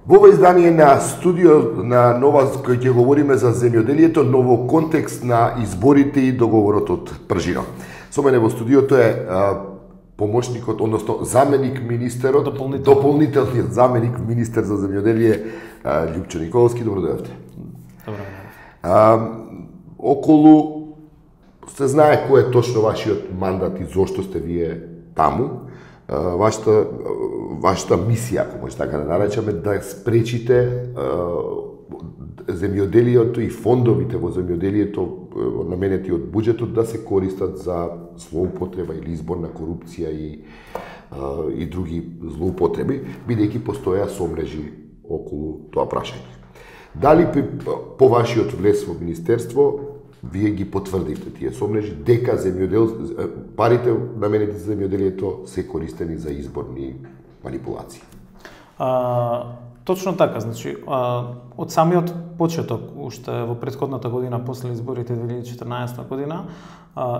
Во ова издание на студио на Нова, кој ќе говориме за земјоделието, ново контекст на изборите и договорот од Пржино. Со мене во студиото е помошникот, односно заменик министерот, дополнителниот заменик министер за земјоделие Љупчо Николовски. Добро дојдовте. Добро. Околу се знае кој е точно вашиот мандат и зошто сте вие таму. Вашата мисија, ако може така да наречеме, да спречите земјоделието и фондовите во земјоделието наменети од буџетот да се користат за злоупотреба или изборна корупција и други злоупотреби, бидејќи постоја сомрежи околу тоа прашање. Дали по вашиот влез во министерство вие ги потврдивте тие сомрежи дека парите наменети за земјоделието се користени за изборни манипулации? Точно така, значи, од самиот почеток, уште во претходната година, после изборите 2014 година,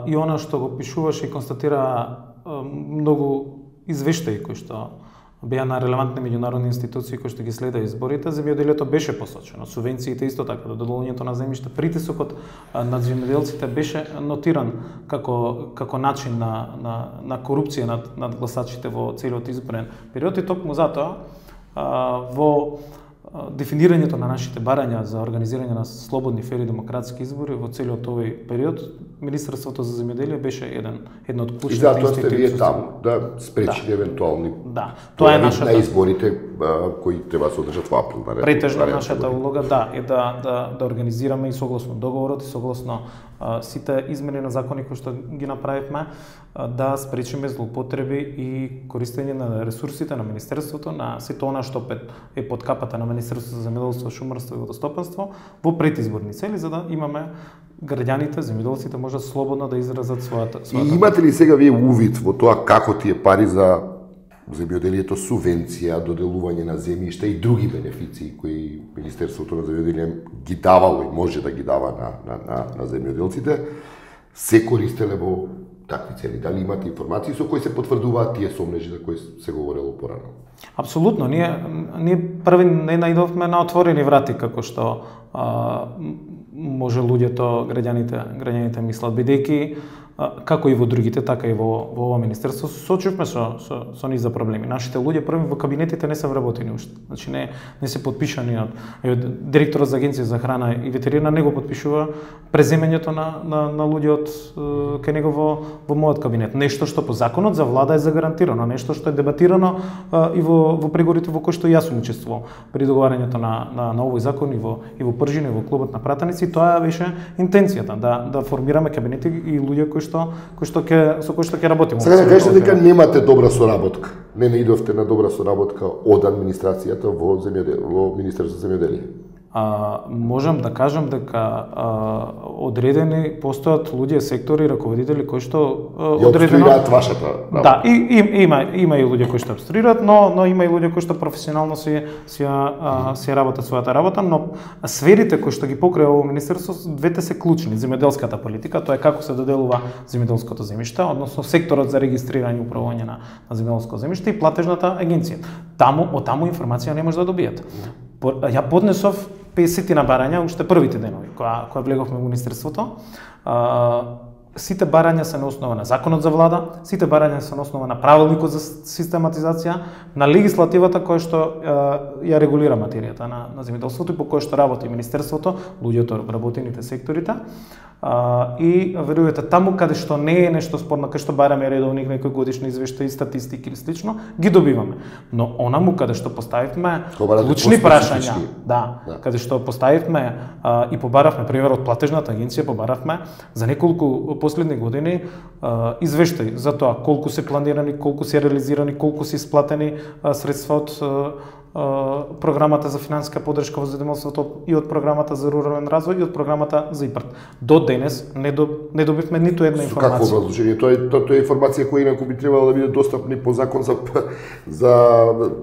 и она што го пишуваше и констатира многу извештаи кои што беа на релевантни меѓународни институции кои што ги следа изборите, земјоделието беше посочено, субвенциите исто така, доделувањето на земјиште, притисокот над земјоделците беше нотиран како начин на корупција над гласачите во целиот изборен период, и токму затоа во дефинирањето на нашите барања за организирање на слободни, фери, демократски избори во целиот овој период, Министерството за земјоделие беше една од клучните институции. И затоа сте вие таму да спречите евентуални тоа е нашата на изборите кои треба да се одржат во април. Претежно нашата улога е да организираме и согласно договорот и согласно сите измени на закони кои што ги направивме, да спречиме злоупотреби и користење на ресурсите на Министерството, на сето она што е под капата на Министерството за земјоделство, шумарство и водостопанство во предизборни цели, за да имаме граѓаните, земјоделците можат слободно да изразат својата. И имате ли сега вие увид во тоа како тие пари за земјоделието, субвенција, доделување на земјишта и други бенефиции кои Министерството на земјоделие ги давало и може да ги дава на земјоделците, се користеле во такви цели? Дали имате информации со кои се потврдуваат тие сомрежи за кои се говорело порано? Апсолутно. Ние први не наидовме на отворени врати, како што може луѓето, граѓаните мислат, бидејќи како и во другите, така и во ова министерство сочувме со низ за проблеми. Нашите луѓе први во кабинетите не се вработени уште. Значи не се подпишани од директорот за агенција за храна и ветерина не го подпишува преземењето на луѓе од кај него во мојот кабинет. Нешто што по законот за влада е загарантирано, нешто што е дебатирано и во преговорите во кои што јас сум учествувал при договарањето на овој закон и во Пржино и во клубот на пратеници. Тоа беше интенцијата да формираме кабинети и луѓе со кои што ќе работиме. Сега да кажете дека немате добра соработка. Не наидовте на добра соработка од администрацијата во Министерството за земјоделие. Можам да кажам дека одредени постојат луѓе, сектори, раководители кои што одредено обструираат вашата работа. Да, има и луѓе кои што обструираат, но има и луѓе кои што професионално си работат својата работа, но сферите кои што ги покрива овој министерство, двете се клучни. Земјоделската политика, тоа е како се доделува земјоделското земјиште, односно секторот за регистрирање и управување на земјоделско земјиште и платежната агенција. Од таму информација не може да добиете. Ја поднесов 50 барања уште првите денови кога влеговме во министерството. Сите барања се на основа на законот за влада, сите барања се на основа на правилникот за систематизација, на легислативата која што ја регулира материјата на земјоделството и по која што работи министерството, луѓето вработените секторите. И верувате, таму каде што не е нешто спорно, каде што бараме редовни некои годишни извештаи, статистики или слично, ги добиваме. Но онаму каде што поставивме клучни прашања, каде што поставивме и побаравме, пример од платежната агенција побаравме за неколку последни години извештаи за тоа колку се планирани, колку се реализирани, колку се исплатени средства од програмата за финансиска поддршка во земјоделството и од програмата за рурален развој и од програмата за ИПАРД. До денес не добивме ниту една информација. Какво образложение? Тоа е информација која инаку би требало да биде достапни по закон за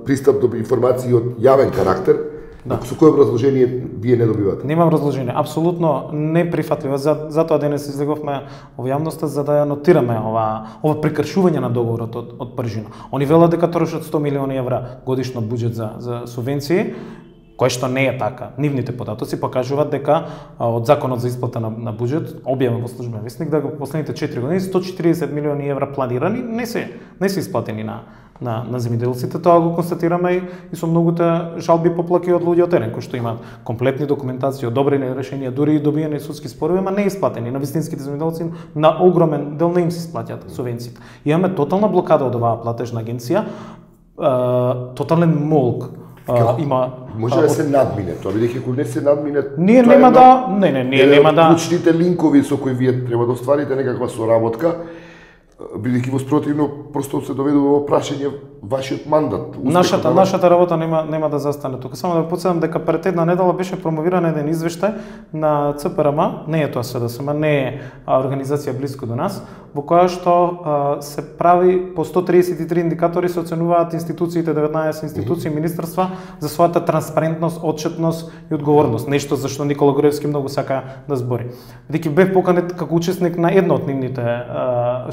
пристап до информации од јавен карактер. Да. Со кое образложение вие не добивате? Немам разложение, апсолутно неприфатливо. Затоа денес излеговме во јавноста за да ја нотираме ова прекршување на договорот од Пржина. Они велат дека трошат 100 милиони евра годишно буџет за субвенции, кое што не е така. Нивните податоци покажуваат дека од законот за исплата на буџет, објавен во службен весник, дека во последните 4 години 140 милиони евра планирани не се исплатени на земјоделците. Тоа го констатираме и со многуте жалби поплаки од луѓе од терен кои што имаат комплетни документации, одобрени решенија, дури и добиени судски спорови, ама не исплатени на вистинските земјоделци, на огромен дел не им се исплаќаат субвенциите. Имаме тотална блокада од оваа платежна агенција, тотален молк. Може да се надмине тоа, бидејќи ако не се надмине, ние нема да, ние нема да. Клучните линкови со кои вие треба да остварите некаква соработка, бидејќи во спротивно просто се доведува во прашање вашиот мандат. Нашата работа нема да застане тука. Само да потсетам дека пред една недела беше промовиран еден извештај на ЦПРМ, не е тоа СДСМ, не е организација близко до нас, во која што се прави по 133 индикатори се оценуваат институциите, 19 институции, министерства за својата транспарентност, отчетност и одговорност. Нешто за што Никола Груевски многу сака да збори. Бидејќи бев поканет како учесник на една од нивните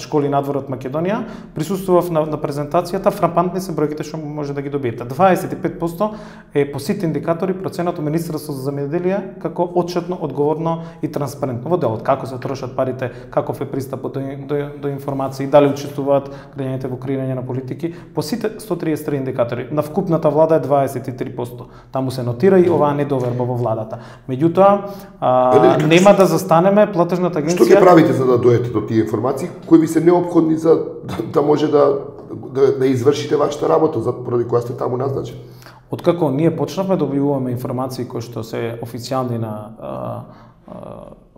школи надвор од Македонија, присуствував на презентацијата, фрапантни се бројките што може да ги добиете. 25% е по сите индикатори проценато Министерството за земјоделие како отчетно, одговорно и транспарентно во делот како се трошат парите, каков е пристапот до информации, дали учествуваат граѓаните во креирање на политики. По сите 133 индикатори на вкупната влада е 23%. Таму се нотира и оваа недоверба во владата. Меѓутоа, нема да застанеме, платежната агенција. Што ги правите за да дојдете до тие информации кои ви се неопходни за да може да извршите вашата работа поради која сте таму назначени? Откако ние почнавме да добиваме информации кои што се официјални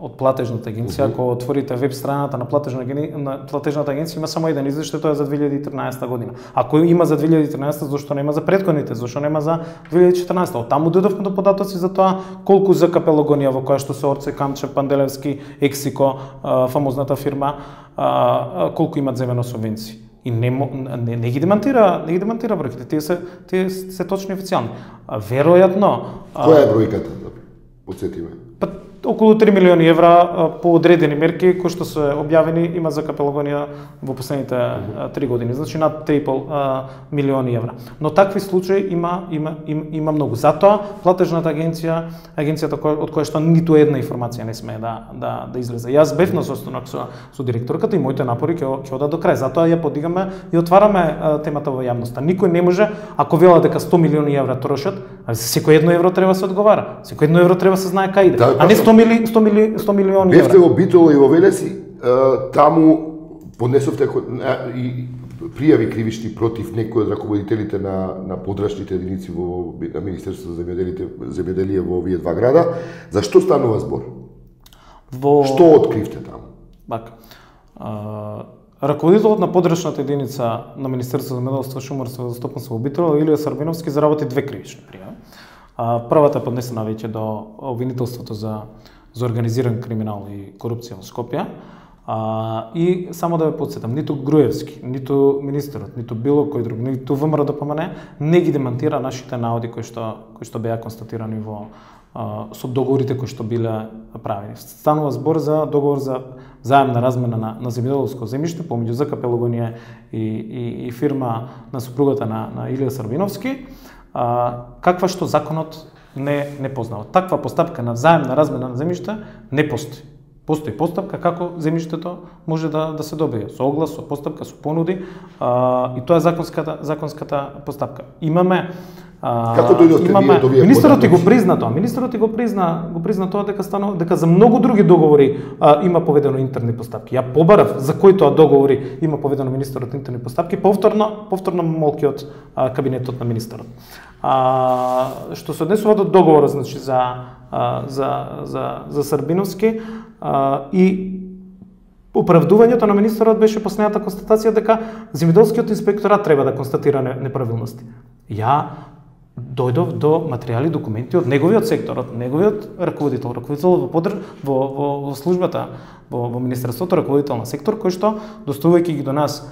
од платежната агенција, ако отворите веб страната на платежната агенција има само еден извештај, тоа е за 2013 година. Ако има за 2013, зашто нема за претходните, зашто нема за 2014? Од таму дојдовме до податоци за тоа колку за капелогонија во која што се Орце, Камче, Панделевски, Ексико, фамозната фирма, колку имат земено субвенции. И не ги демантира бројките, тие се точно официјални. Веројатно. Која е бројката, да потсетиме? Околу 3 милиони евра по одредени мерки кои што се објавени има за капелогонија во последните 3 години, значи над 3,5 милиони евра. Но такви случаи има многу. Затоа платежната агенцијата од која што ниту една информација не смее да излезе. Јас бев на состанок со директорката и моите напори ќе одат до крај. Затоа ја подигаме и отвараме темата во јавноста. Никој не може, ако вела дека 100 милиони евра трошат, за секој едно евро треба се одговара. Секој едно евро треба се знае кај иде. А не 100 милиони евра. Бевте во Битола и во Велеси, таму поднесовте и пријави кривични против некои од раководителите на подрачните единици на Министерството за земјоделие во овие два града. За што станува збор? Што откривте таму? Така. Раководителот на подрачната единица на Министерството за земјоделство, шумарство и водостопанство во Битола, Илија Сарбиновски, заработи две кривични пријави. Првата е поднесена веќе до обвинителството за организиран криминал и корупција во Скопје. И само да ве потсетам, ниту Груевски, ниту министерот, ниту било кој друг, ниту ВМРО ДПМН не ги демантира нашите наоди кои што беа констатирани со договорите кои што биле правени. Станува збор за договор за заемна размена на земјоделско земјиште помеѓу ЗК Пелогонија и фирма на супругата на Илија Сарбиновски, каква што законот не познава. Таква постапка на заемна размена на земјиште не постои. Постои постапка како земјиштето може да се добие со оглас, со постапка, со понуди, и тоа е законската постапка. Имаме Како дојдовте вие до вие? Министерот го призна тоа. Министерот го призна тоа дека за многу други договори има поведено интерни постапки. Ја побарав за кои тоа договори има поведено министерот интерни постапки, повторно молки од кабинетот на министерот. Што се однесува до договорот, значи за Сарбиновски и оправдувањето на министерот беше последната констатација дека земјоделскиот инспекторат треба да констатира неправилности. Ја дојдов до материјали, документи од неговиот сектор, од неговиот раководител во службата во Министерството, раководител на сектор, кој што доставувајќи ги до нас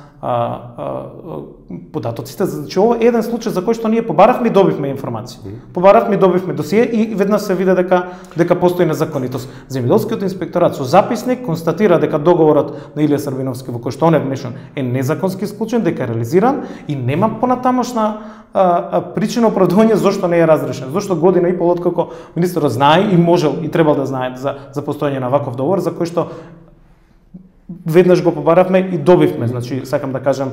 податоците, значи ова е еден случај за кој што ние побаравме и добивме информација. Побаравме и добивме досие и веднаш се виде дека постои незаконитост. Земјоделскиот инспекторат со записник констатира дека договорот на Илија Србиновски во кој што он е вмешан е незаконски склучен, дека е реализиран и нема понатамошна причина оправдување зошто не е разрешен. Зошто година и пол откако министерот знае и можел и требал да знае за постоење на ваков договор за кој што веднаш го побаравме и добивме, значи сакам да кажам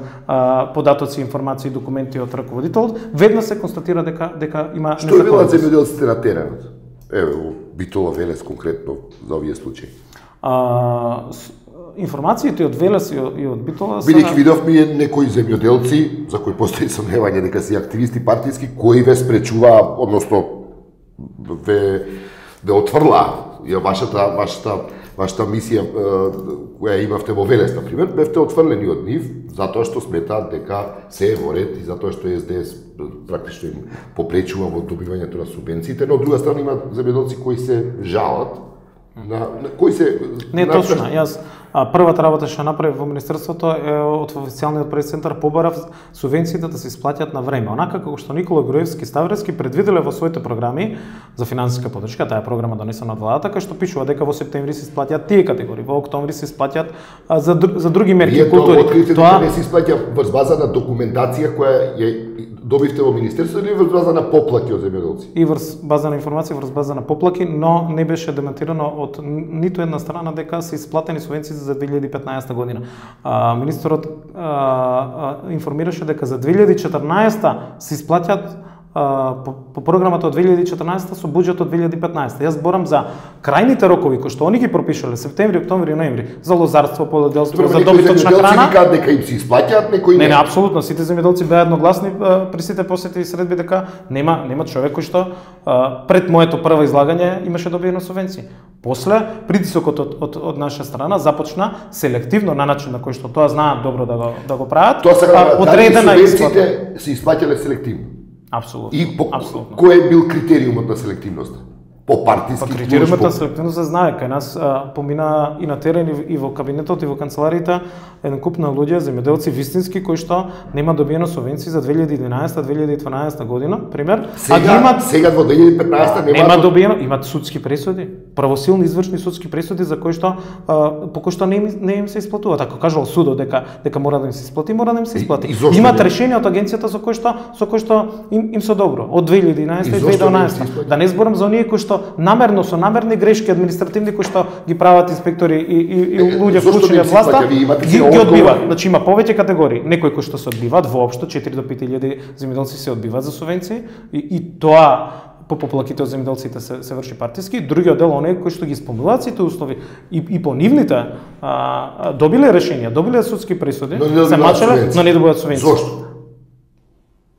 податоци, информации, документи од раководителот, веднаш се констатира дека има Што велат земјоделците на теренот? Еве, Битола, Велес конкретно за овие случаи. Информациите од Велес и од Битола се... Бидејќи видовме некои земјоделци, за кои постои сомневање дека се активисти партиски, кои ве спречуваа, односно ве отврла вашата мисија која имавте во Велес, например, бевте отфрлени од нив, затоа што сметаат дека се е во ред и затоа што СДС практично им попречува во добивањето на субвенциите, но од друга страна има земјоделци кои се жалат, на кои се... Не точно, јас првата работа што направив во Министерството е од официјалниот прес-центар побарав субвенциите да се исплатят на време. Онака како што Никола Груевски Ставревски предвиделе во своите програми за финансиска поддршка, таа програма донесена од владата, кај што пишува дека во септември се исплатят тие категории, во октомври се исплатят за други мерки култури. Тоа не се исплаќа врз база на документација која ја добивте во Министерството или врз база на поплаки од земјоделци? И врз база на информација, врз база на поплаки, но не беше демонтирано од ниту една страна дека се исплатени субвенции за 2015 година. Министерот информираше дека за 2014 се исплатят по програмата од 2014 со буџет од 2015. Јас зборам за крајните рокови кои што они ги пропишале септември, октомври и ноември за лозарство, полоделство, за добиточна храна. Некои дека им се исплаќаат, некои не. Не, апсолутно, сите земјоделци беа едногласни при сите посети и средби дека нема човек кој што пред моето прво излагање имаше добиено субвенции. После притисокот од наша страна започна селективно на начин на кој што тоа знаат добро да го прават. Одредена исплата се исплаќале селективно. Апсолутно. И кој е бил критериумот на селективноста? По партиски критериумот на селективност се знае, кај нас помина и на терен и во кабинетот и во канцелариите еден куп на луѓе, земјоделци вистински кои што нема добиено субвенции за 2011-2012 година, пример, сега во 2015 нема добиено, имат судски пресуди, правосилни извршни судски пресуди за кои што по кои што не им се исплатуваат. Ако кажал судот дека мора да им се исплати, мора да им се исплати. Имат решение од агенцијата со кои што им се добро од 2011 и 2012. Да не зборам за оние кои што намерно со намерни грешки административни кои што ги прават инспектори и луѓе вклучени од власта ги одбиваат. Значи има повеќе категории. Некои кои што се одбиваат воопшто 4 до 5.000 земјоделци се одбиваат за субвенции и тоа по поплаките од земјоделците се врши партиски, другиот дел оние кои што ги исполнуваат сите услови и по нивните добиле решенија, добиле судски пресуди, се мачеле, но не добиваат субвенции. Зошто?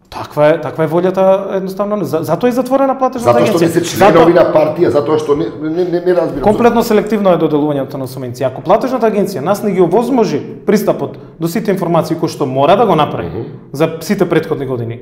Таква е волјата едноставно. Затоа е затворена платежната агенција. Затоа што не се членови на партија, затоа што не разбирам. Комплетно селективно е доделувањето на субвенции. Ако платежната агенција нас не ги овозможи пристапот до сите информации кои што мора да го направи за сите претходни години,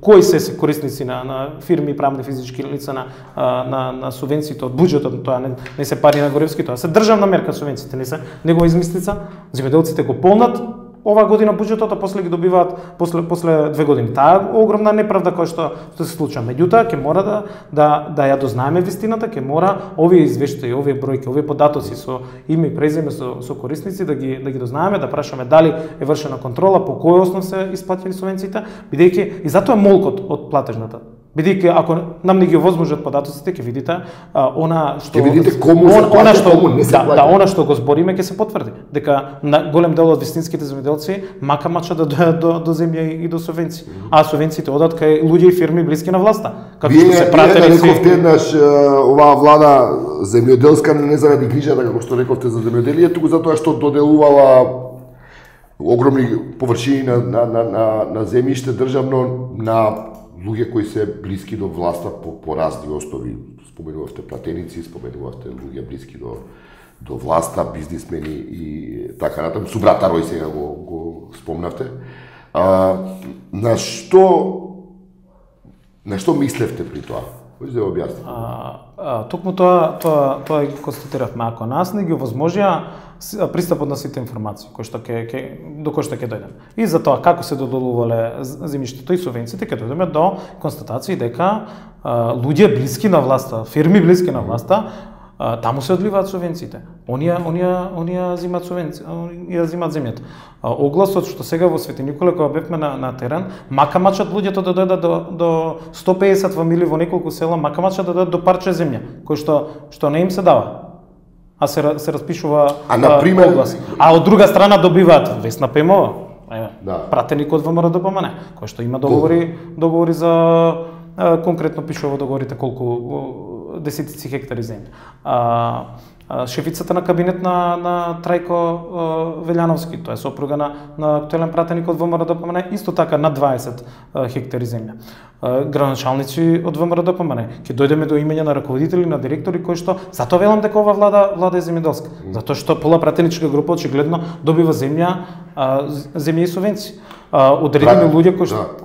кои се корисници на фирми, правни физички лица на субвенциите од буџетот, тоа не се пари на Горевски, тоа се државна мерка субвенциите, не се негова измислица. Земјоделците го полнат ова година буџетот, а после ги добиваат после 2 години. Таа огромна неправда која што се случува. Меѓутоа ќе мора да ја дознаеме вистината, ќе мора овие извештаи, овие бројки, овие податоци со име и презиме со корисници да ги дознаеме, да прашаме дали е вршена контрола, по кој основ се исплатени субвенциите, бидејќи и затоа е молкот од платежната. Бидејќи ако нам не ги овозможат податоците, ќе видите она што кому се плаќа, кому не се плаќа. Она што го збориме ќе се потврди, дека на голем дел од вистинските земјоделци мачат да дојдат до земја и до субвенции. А субвенциите одат кај луѓе и фирми блиски на власта. Како што се пратели си еднаш оваа влада земјоделска не заради грижата како што рековте за земјоделие, туку затоа што доделувала огромни површини на земјиште државно на луѓе кои се блиски до власта по разни основи. Споменувавте платеници, споменувавте луѓе блиски до власта, бизнисмени и така натаму. Субрата Рој сега го спомнавте. На што мислевте при тоа? Може да објасни. Токму тоа ги констатиравме. Ако нас не ги овозможија пристапот на сите информации до кои што ќе дојдеме. И за тоа како се додолувале земјиштето и субвенциите, ќе дојдеме до констатации дека луѓе блиски на власта, фирми блиски на власта, таму се одливаат субвенциите. Оние земаат субвенција, оние земаат земјата. Огласот што сега во Свети Николе кога бевме на терен, мака мачат луѓето да дојдат до 150 фамилии во неколку села, мака мачат да дојдат до парче земја, кој што не им се дава. А се распишува оглас. А од друга страна добиваат Весна Пемова, пратеник од ВМРО-ДПМН, кој што има договори за конкретно пишува договорите колку десетици хектари земја. Шефицата на кабинет на Трајко Велјановски, тоа е сопруга на актуелен пратеник од ВМРО-ДПМН, исто така на 20 хектари земја. Градоначалници од ВМРО-ДПМН. Ќе дојдеме до имења на раководители, на директори кои што затоа велам дека ова влада е земјоделска. Затоа што пола пратеничка група очигледно добива земја и субвенции. Одредени луѓе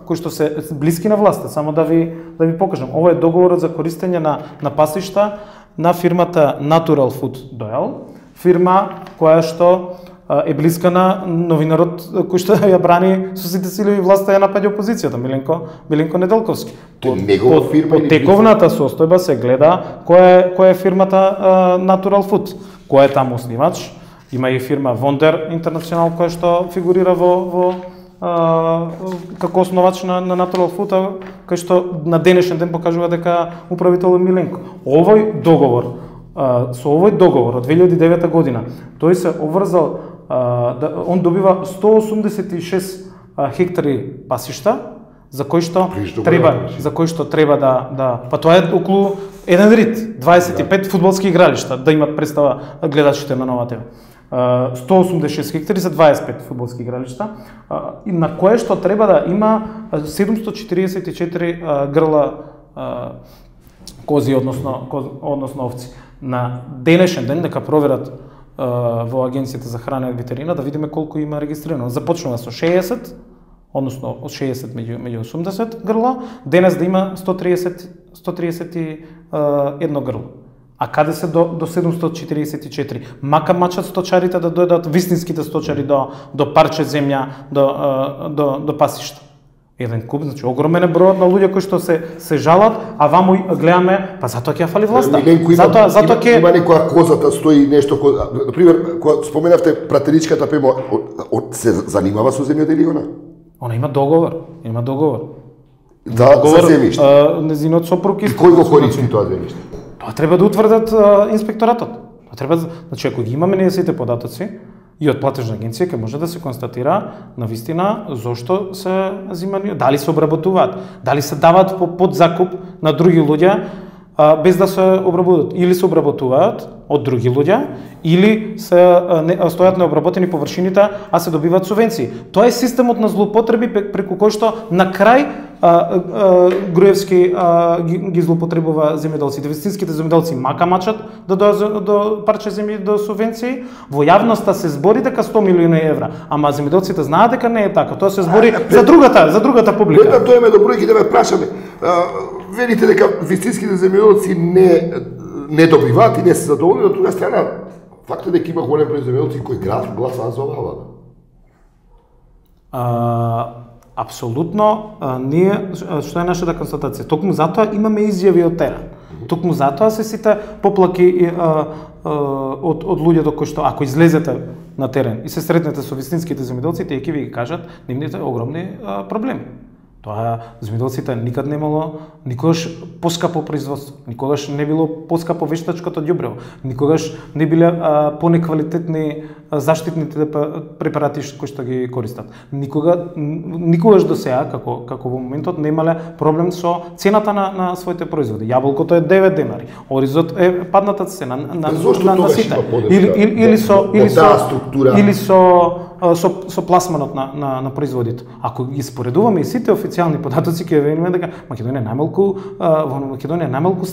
кои што се блиски на власта. Само да ви покажам. Ова е договорот за користење на пасишта на фирмата Natural Food Doyle, фирма која што е блиска на новинарот кој што ја брани со сите сили и власта ја напаѓа опозицијата, Миленко Неделковски. Под тековната состојба се гледа која е фирмата Natural Food, кој е таму основач. Има и фирма Wonder International која што фигурира во како основач на Natural Food, кај што на денешен ден покажува дека управител е Миленко. Со овој договор од 2009 година, тој се обврзал он добива 186 хектари пасишта, за кои што треба да па тоа е околу еден рид, 25 фудбалски игралишта да имат представа гледачите на Нова ТВ. 186 хектари за 25 фудбалски игралишта, и на кое што треба да има 744 грла кози, односно овци. На денешен ден, дека проверат во Агенцијата за храна и ветерина, да видиме колку има регистрирано. Започнува со 60, односно од 60 меѓу 80 грла, денес да има 131 грло. А каде се до 744? Мака мачат сточарите да дојдат, вистинските сточари до парче земја, до пасишта. Еден куп, значи огромен е бројот на луѓе кои што се жалат, а ваму гледаме, па затоа ќе фали власта. Има некоја козата стои нешто, например, кога споменавте пратеничката Пемо, се занимава со земјоделие она? Она има договор. За земјиште. Незинот сопруг и кој го користи тоа земјиште? Тоа треба да утврдат инспекторатот. Значи, ако ги имаме ние сите податоци и од платежна агенција, ќе може да се констатира на вистина зошто се земјани, дали се обработуваат, дали се даваат по подзакуп на други луѓе без да се обработуваат, или се обработуваат од други луѓе, или се стојат необработени површините, а се добиваат субвенции. Тоа е системот на злоупотреби преку кој што на крај Груевски ги злоупотребува земјоделците. Вистинските земјоделци мака мачат да дојдат до парче земји до субвенции. Во јавноста се збори дека 100 милиони евра, ама земјоделците знаат дека не е така. Тоа се збори за другата публика. Пред да дојдеме до бројки да ме прашаме. Велите дека вистинските земјоделци не добиваат и не се задоволни, од друга страна факт е дека има голем број земјоделци кои гласаат за оваа влада. Апсолутно, ние, што е нашата констатација, токму затоа имаме изјави од терен. Токму затоа се сите поплаки од луѓето кои што, ако излезете на терен и се сретнете со вистинските земјоделци, тие ќе ви ги кажат нивните огромни проблеми. Тоа земјоделците никад не имало никогаш поскапо производство, никогаш не било поскапо вештачкото ѓубрево, никогаш не биле понеквалитетни заштитните препарати кои што ги користат. Никогаш до сега, како во моментот, не имале проблем со цената на своите производи. Јаболкото е 9 денари, оризот е падната цена на сите. Или со пласманот на производите. Ако ги споредуваме и сите официјални податоци, ќе видиме дека во Македонија најмалку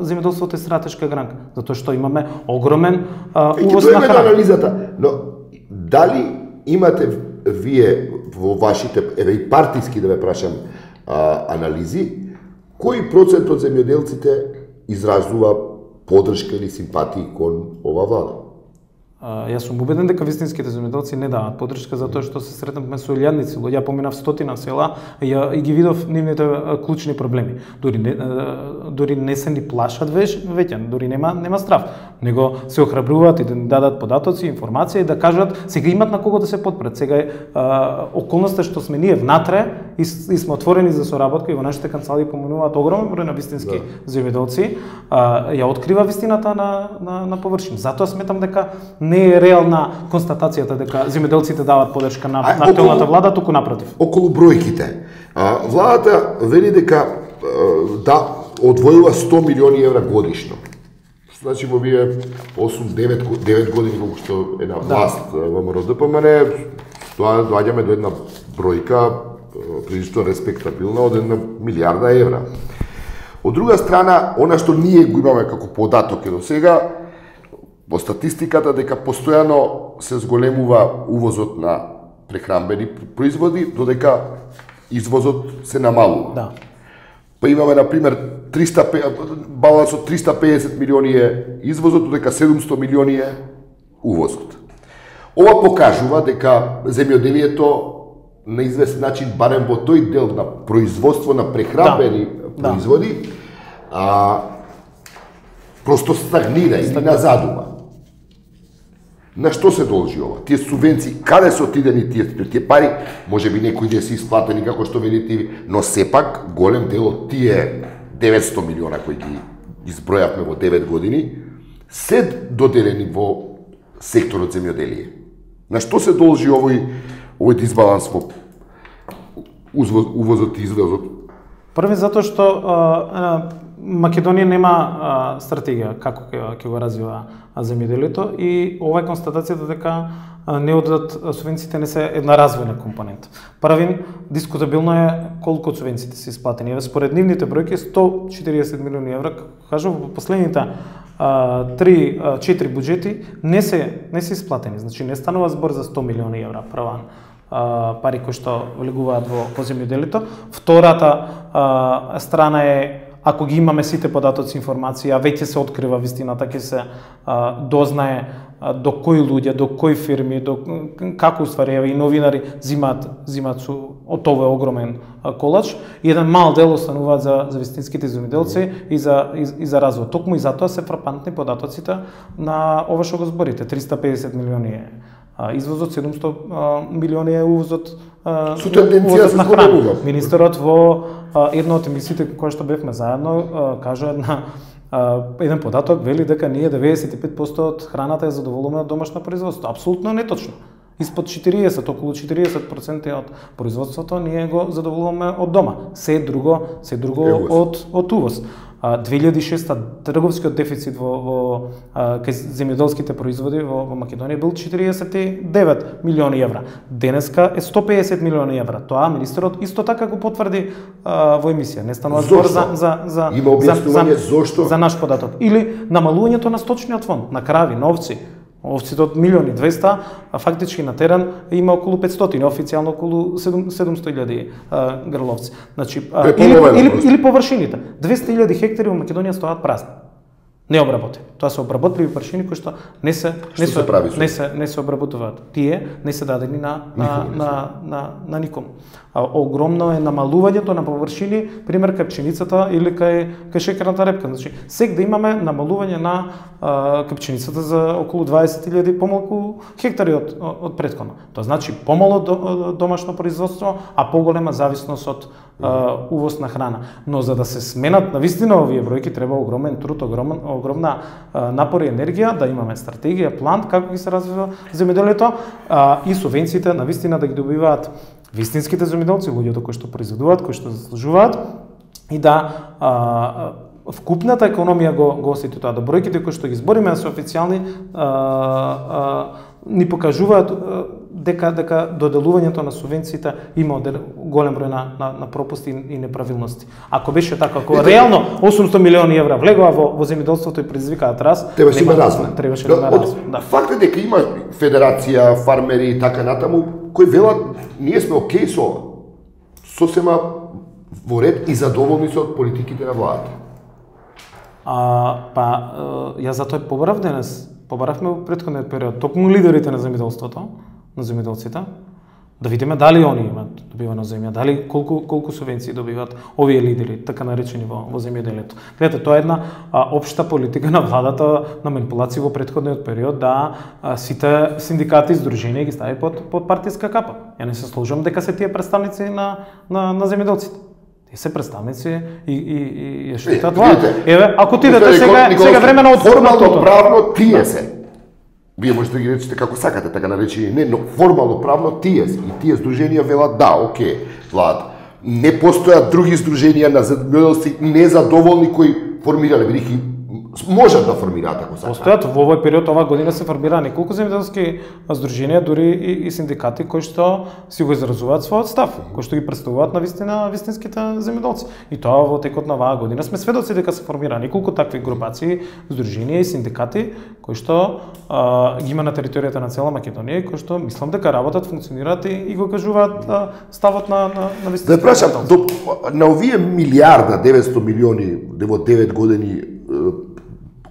земјоделството е стратешка гранка, затоа што имаме огромен увоз на храна. Анализата, но дали имате вие во вашите, еве и партиски да ве прашам, анализи, Кој процент од земјоделците изразува поддршка или симпатии кон ова влада? Јас сум убеден дека вистинските земјоделци не даваат поддршка затоа што се сретнавме со илјадници луѓе, ја поминав 100 села и ги видов нивните клучни проблеми. Дури не се ни плашат веќе, дури нема страв, него се охрабруваат и да ни дадат податоци, информација и да кажат сега имат на кого да се подпрет. Сега околноста што сме ние внатре и сме отворени за соработка и во нашите канцеларии поминуваат огромен број на вистински земјоделци, ја открива вистината на површина. Затоа сметам дека не е реална констатацијата дека земјоделците дават поддршка на актуелната влада, туку напротив. Околу бројките. Владата вели дека да одвојува 100 милиони евра годишно. Значи во вие 8-9 години колку што е на власт во МРОДПМН, тоа доаѓаме до една бројка прилично респектабилна од 1 милијарда евра. Од друга страна, она што ние го имаме како податок до сега, во статистиката дека постојано се зголемува увозот на прехранбени производи, додека извозот се намалува. Да. Па имаме, например, балансот 350 милиони е извозот, додека 700 милиони е увозот. Ова покажува дека земјоделието на известен начин, барем во тој дел на производство на прехранбени производи, просто стагнира или назадува. На што се должи ова? Тие субвенции, каде се отидени тие пари? Може би некои да се исплатени како што велите ви, но сепак голем дел од тие 900 милиона кои ги избројавме во 9 години се доделени во секторот земјоделие. На што се должи овој дисбаланс во увозот и извозот? Први затоа што Македонија нема стратегија како ќе го развива земјоделието и ова е констатацијата дека не одат субвенциите не се една развојна компонента. Првин, дискутабилно е колку од субвенциите се исплатени. Според нивните бројки 140 милиони евра, кажувам, во последните 3-4 буџети не се исплатени. Значи не станува збор за 100 милиони евра прва пари кои што влегуваат во земјоделието. Втората страна е ако ги имаме сите податоци, информација, веќе се открива вистината, ќе се дознае до кои луѓе, до кои фирми, до како уствари и новинари зимаат од овој огромен колач и еден мал дел остануваат за вистинските земјоделци и за развој. Токму и затоа се фрапантни податоците на ова што го зборите, 350 милиони извозот, 700 милиони е увозот на храна. Министерот во една од емисиите која што бевме заедно кажа еден податок, вели дека ние 95% од храната е задоволуваме од домашно производство. Апсолутно неточно. Испод 40, околу 40% од производството ние го задоволуваме од дома. Се друго од увоз. 2006 трговскиот дефицит во земјоделските производи во Македонија бил 49 милиони евра. Денеска е 150 милиони евра. Тоа министерот исто така го потврди во емисија. Не станува збор за наш податок. Или намалувањето на сточниот фонд, на крави, на овци. Овците од 1.200.000, а фактички на терен има околу 500, официјално околу 700.000 грловци. Значи, или површините. 200.000 хектари во Македонија стојат празни. Не обработени. Тоа се обработливи површини кои што не се обработуваат. Тие не се дадени на никому. Огромно е намалувањето на површини, пример кај пшеницата или кај шекерната репка. Значи, сек да имаме намалување на кај пшеницата за околу 20.000 помалку хектари од претходно. Тоа значи помало домашно производство, а поголема зависност од увоз на храна. Но за да се сменат навистина овие бројки треба огромен труд, огромна напор и енергија, да имаме стратегија, план како ги се развива земјоделието и субвенциите навистина да ги добиваат вистинските земјоделци, луѓето кои што произведуваат, кои што заслужуваат и да вкупната економија го осети тоа. Да бројките кои што ги збориме се официјални ни покажуваат дека доделувањето на субвенциите има голем број на пропусти и неправилности. Ако беше така, ако реално 800 милиони евра влегува во земјоделството и предизвикаат раст, требаше да има развој. Факт е дека има федерација, фармери и така натаму кои велат ние сме окей со ова. Сосема во ред и задоволни се од политиките на владата? Ја затоа побарав денес, побаравме во претходниот период, токму лидерите на земјоделството, на земјоделците, да видиме дали они имаат добивано земја, дали колку субвенции добиваат овие лидери, така наречени во земјоделието. Гледате, тоа е една општа политика на владата на манипулации во претходниот период да сите синдикати и здруженија ги стави под партиска капа. Ја не се сложам дека се тие представници на земјоделците. Тие се представници и штитат влада. Еве, ако отидете сега време на формално правно тие се. Вие можете да ги речете како сакате, така наречени не, но формално правно тие се. И тие здруженија велат да, окей, влада. Не постојат други здруженија на земјоделци незадоволни кои формирале, бидејќи можат да формираат ако сакаат. Постојат во овој период, оваа година се формираа неколку земјоделски здруженија, дури и синдикати кои што си го изразуваат својот став, кои што ги представуваат на вистинските земјоделци. И тоа во текот на оваа година сме сведоци дека се формира неколку такви групации, здруженија и синдикати кои што ги има на територијата на цела Македонија и кои што мислам дека работат, функционираат и го кажуваат ставот на вистинските. Да прашам, на овие милиарда 900 милиони во 9 години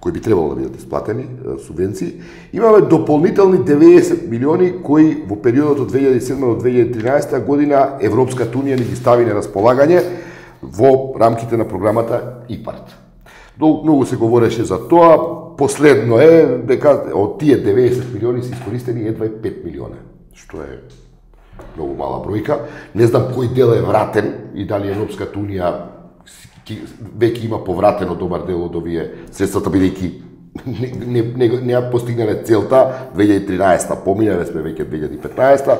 кои би требало да бидат исплатени, субвенции, имаме дополнителни 90 милиони кои во периодот од 2007 до 2013 година Европската унија ни ги стави на располагање во рамките на програмата ИПАРД. Многу се говореше за тоа, последно е дека од тие 90 милиони се искористени едва 5 милиона, што е многу мала бројка. Не знам кој дел е вратен и дали Европската унија веќе има повратено добар дел од овие средствата, бидејќи не постигнале целта 2013-та, поминаве сме веќе 2015-та.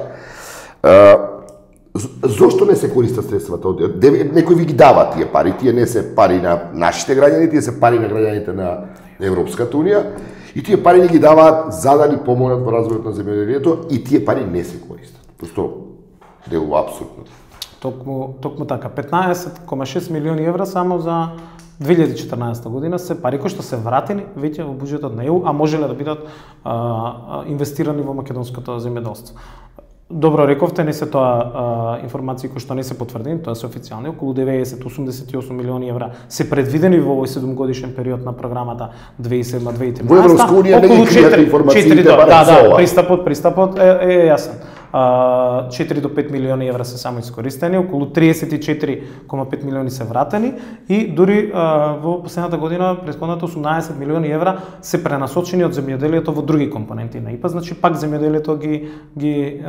Зошто не се користат средствата? Некој ви ги дава тие пари, тие не се пари на нашите граѓани, тие се пари на граѓаните на Европската унија и тие пари ни ги даваат за да ни помогнат во развојот на земјоделието и тие пари не се користат. Просто делува апсурдно. Токму така, 15,6 милиони евра само за 2014 година се пари кои што се вратени веќе во буџетот на ЕУ, а можеле да бидат инвестирани во македонското земјоделство. Добро рековте, не се тоа информации кои што не се потврдени, тоа се официјални, околу 90-88 милиони евра се предвидени во овој 7-годишен период на програмата 2007-2013. Во Европска унија не ги кријат информациите, пристапот е јасен. 4 до 5 милиони евра се само искористени, околу 34,5 милиони се вратени и дури во последната година, претходната 18 милиони евра се пренасочени од земјоделието во други компоненти на ИПА, значи пак земјоделието ги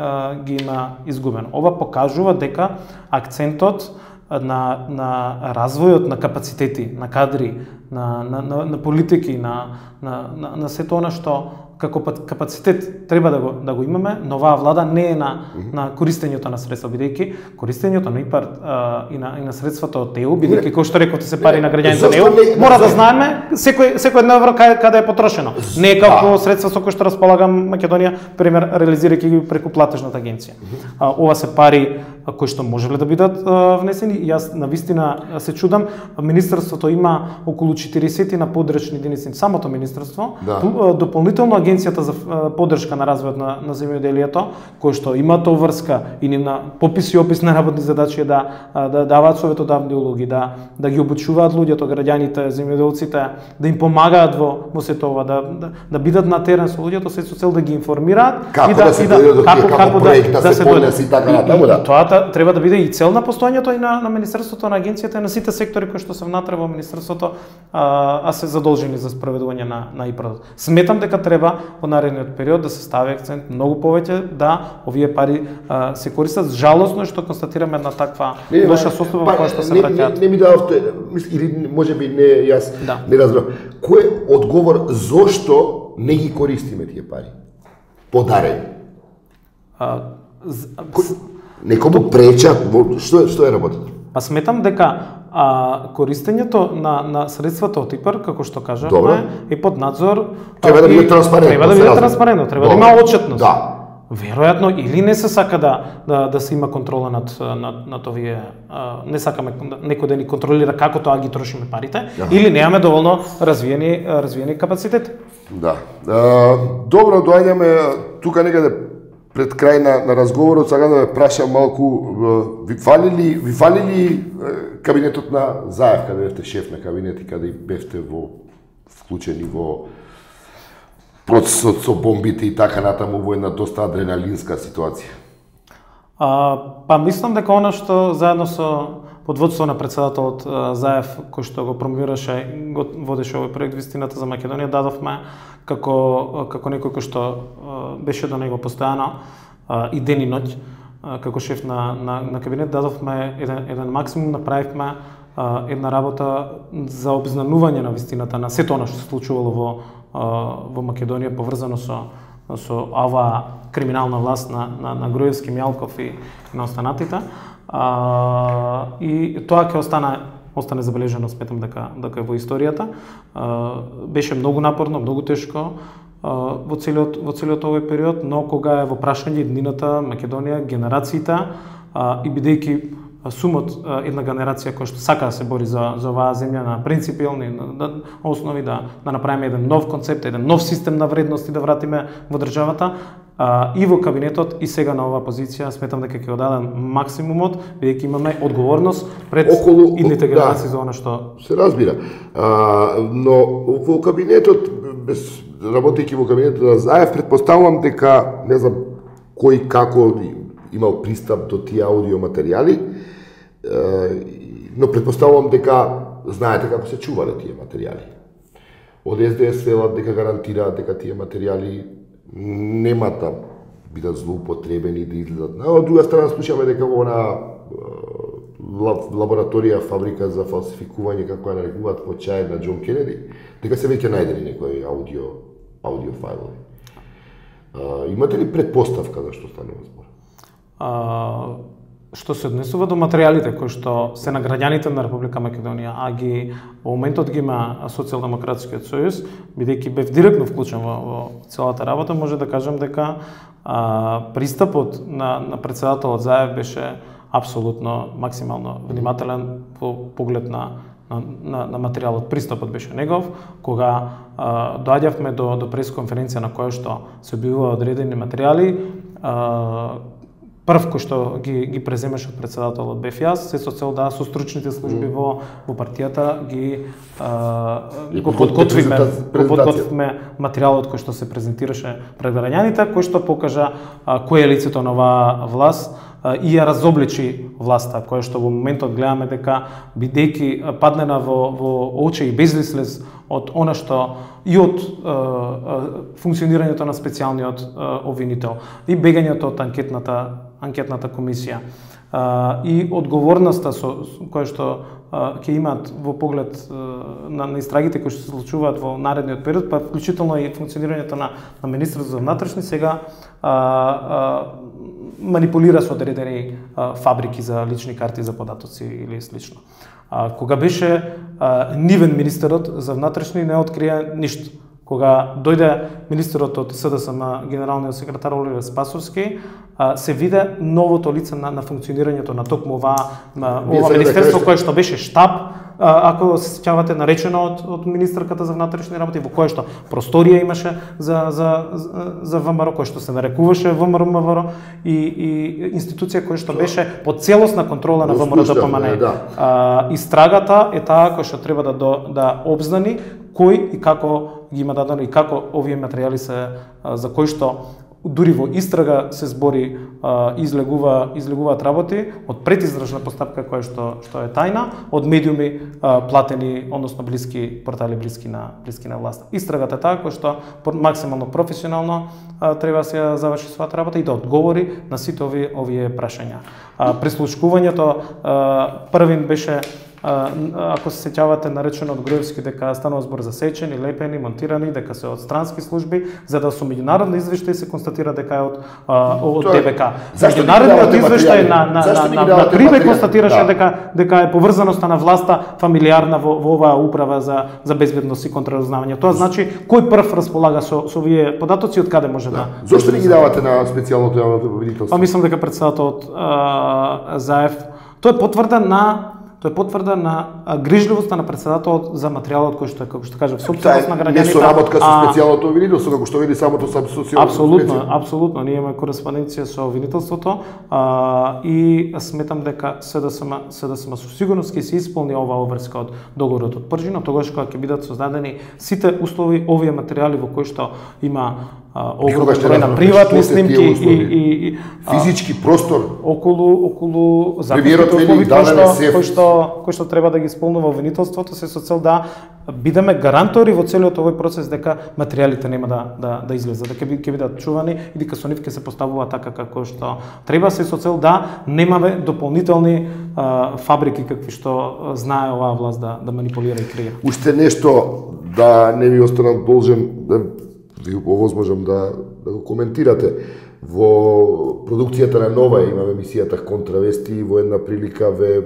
има изгубено. Ова покажува дека акцентот на развојот на капацитети, на кадри, на политики, на сето она што како капацитет треба да го имаме, но оваа влада не е на користењето на средства, бидејќи користењето на ИПАРД и на средствата од ЕУ, бидејќи кој што рековте се пари на граѓаните на ЕУ, мора да знаеме секој едно евро каде е потрошено. Не е како средства со кои што располага Македонија, пример реализирајќи ги преку платежната агенција. Ова се пари кои што можеле да бидат внесени. Јас навистина се чудам, министерството има околу 40 на подрачни единици, самото министерство, дополнително агенцијата за поддршка на развојот на земјоделието, кои што имаат обврска и на попис и опис на работни задачи да даваат советодавни улоги, да ги обучуваат луѓето, граѓаните, земјоделците, да им помагаат во сето ова, да бидат на терен со луѓето, се со цел да ги информираат како да се поднесе и така натаму. Тоа треба да биде и цел на постоењето и на министерството, на агенцијата и на сите сектори кои што се внатре во министерството, а се задолжени за спроведување на ИПАРД. Сметам дека треба во наредниот период да се стави акцент многу повеќе да овие пари се користат. Жалосно е што констатираме една таква лоша состојба која што се враќаат. Не ми дававте, или можеби не јас не разбрав. Кој е одговор зошто не ги користиме тие пари? Подарени. Некому пречат, што е работата? Па сметам дека користењето на средствата од ИПАРД, како што кажавме, е под надзор. Треба да биде транспарентно. Треба да има отчетност. Веројатно или не се сака да се има контрола над овие, не сакаме некој да ни контролира како тоа ги трошиме парите, или немаме доволно развиени капацитети. Да. Добро, доаѓаме тука некаде пред крај на разговорот сакам да ве прашам малку, ви фали ли кабинетот на Заев, каде бевте шеф на кабинет и каде бевте вклучени во процесот со бомбите и така натаму во една доста адреналинска ситуација? Па мислам дека она што заедно со под водство на председателот Заев, кој што го промовираше, го водеше овој проект Вистината за Македонија, дадовме како некој кој што беше до него постојано и ден и ноќ, како шеф на кабинет, дадовме еден максимум, направивме една работа за обзнанување на вистината на сето она што се случувало во Македонија, поврзано со оваа криминална власт на Груевски, Мјалков и на останатите. И тоа ќе остане забележено, сметам дека е во историјата. Беше многу напорно, многу тешко во целиот овој период, но кога е во прашање иднината, Македонија, генерациите и бидејќи сумот една генерација која што сака да се бори за оваа земја на принципиални основи, да направиме еден нов концепт, еден нов систем на вредности да вратиме во државата, и во кабинетот и сега на оваа позиција сметам дека ќе го дадам максимумот, бидејќи имаме одговорност пред идните генерации за она што се разбира. Но во кабинетот, работејќи во кабинетот на Заев, предпоставувам дека не знам кој како имал пристап до тие аудио материјали, но предпоставувам дека знаете како се чувале тие материјали. Од СДС велат дека гарантираат дека тие материјали нема да бидат злоупотребени, да излезат. Од друга страна слушаме дека во она лабораторија, фабрика за фалсификување, како ја нарекуваат во чај на Џон Кенеди, дека се веќе најдени некои аудио фајлови. Имате ли предпоставка за што станува збор? Што се однесува до материјалите кои што се на граѓаните на Република Македонија, а во моментот ги има Социјалдемократскиот сојуз, бидејќи бев директно вклучен во целата работа, може да кажам дека пристапот на председателот Заев беше апсолутно максимално внимателен во поглед на материјалот. Пристапот беше негов, кога доаѓавме до пресконференција на која што се објавува одредени материјали, прв кој што ги преземеше од председателот бев јас, се со цел да со стручните служби во партијата го подготвиме материјалот кој што се презентираше пред граѓаните, кој што покажа кој е лицето на оваа власт и ја разобличи власта, која што во моментот гледаме дека бидејќи паднена во очи и безлислез од она што и од функционирањето на специјалниот обвинител и бегањето од анкетната комисија и одговорноста која што ќе имаат во поглед на истрагите кои што се случуваат во наредниот период, па вклучително и функционирањето на Министерството за внатрешни, сега манипулира со одредени фабрики за лични карти за податоци или слично. Кога беше нивен министерот за внатрешни, не открија ништо. Кога дојде министерот од СДСМ, генералниот секретар Оливер Спасовски, се виде новото лице на функционирањето на токму ова министерство кое што беше штаб, ако се сеќавате, наречено од министерката за внатрешни работи, во кое што просторија имаше за ВМРО, кое што се нарекуваше ВМРО и институција која што беше под целосна контрола на ВМРО-ДПМН. Истрагата е таа која што треба да обзнани кој и како ги има дадено и како овие материјали се за кои што дури во истрага се збори излегуваат работи од предизрачна постапка која што е тајна, од медиуми платени, односно портали блиски на власта. Истрагата е таа која што максимално професионално треба да се заврши својата работа и да одговори на сите овие прашања. Прислушкувањето првин беше, ако се сеќавате, наречено од Груевски дека станува збор за сечени, лепени, монтирани, дека се од странски служби, за да со меѓународни извештаи се констатира дека е од ДБК. Меѓународниот извештај на Крибе констатираше дека е поврзаноста на власта фамилиарна во оваа управа за безбедност и контраразузнавање. Тоа значи кој прв располага со овие податоци, од каде може да. Зошто не ги давате на специјалното јавно обвинителство? Па мислам дека председателот Заев, тоа е потврда на тоа е потврда на грижливоста на председателот за материјалот кој што е, како што кажав, собственост на граѓаните. Не соработка со специјалното обвинителство, како што вели самото Апсолутно, апсолутно, ние имаме кореспонденција со обвинителството и сметам дека СДСМ со сигурност ќе се исполни оваа обврска од договорот од Пржина, тогаш кога ќе бидат создадени сите услови, овие материјали во кои што има огромен број на приватни снимки и физички простор околу законите услови кои што треба да ги исполнува обвинителството, се со цел да бидеме гарантори во целиот овој процес дека материјалите нема да излезат, дека ќе бидат чувани и дека со нив ќе се поставува така како што треба, се со цел да немаме дополнителни фабрики какви што знае оваа власт да манипулира и креира. Уште нешто да не ви останам должен да ви овозможам да го коментирате. Во продукцијата на Нова имаме емисијата Контравести и во една прилика ве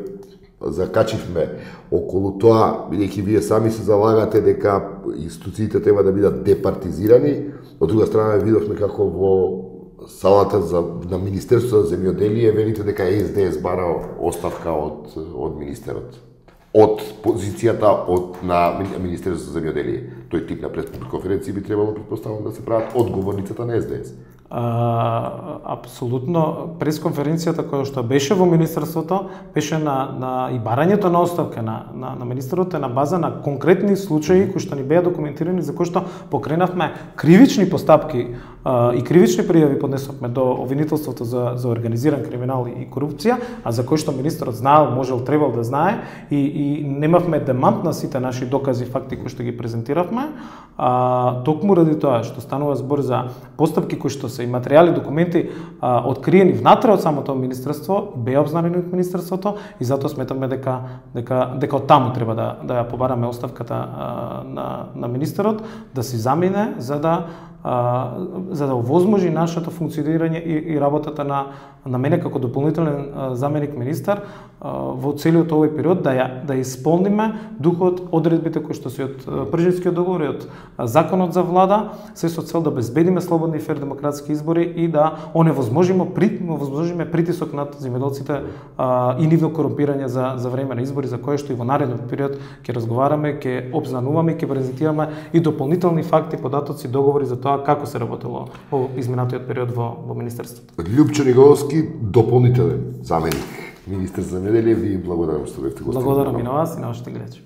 закачивме околу тоа, бидејќи вие сами се залагате дека институциите треба да бидат департизирани. Од друга страна видовме како во салата на Министерството за земјоделие велите дека СДС бара оставка од министерот. Од позицијата на Министерството за земјоделие. Тој тип на пресконференција би требало, претпоставам, да се прават од говорницата на СДС. Апсолутно, пресконференцијата која што беше во Министерството беше и барањето на оставка на министерот е на база на конкретни случаи кои што ни беа документирани, за кои што покренавме кривични постапки и кривични пријави поднесовме до обвинителството за организиран криминал и корупција, а за кои што министерот знаел, можел, требал да знае и немавме демант на сите наши докази, факти кои што ги презентиравме, токму ради тоа што станува збор за постапки кои што се и материјали, документи откриени внатре од самото министерство, беа обзнарени од министерството и затоа сметаме дека од таму треба да ја побараме оставката на министерот, да се замине за да овозможи нашето функционирање и работата на мене како дополнителен заменик министар во целиот овој период да исполниме духот, одредбите кои што се од Пржинскиот договор и од законот за влада, се со цел да обезбедиме слободни и фер демократски избори и да овозможиме притисок над земјоделците и нивно корумпирање за време на избори, за кое што и во наредниот период ќе разговараме, ќе обзнануваме, ќе презентираме и дополнителни факти, податоци, договори за тоа како се работело во изминатиот период во министерството. Љупчо Ниголовски, дополнителен заменик министер за земјоделие, ви благодарам што бевте гостин. Благодарам и на вас и на вашите гледачи.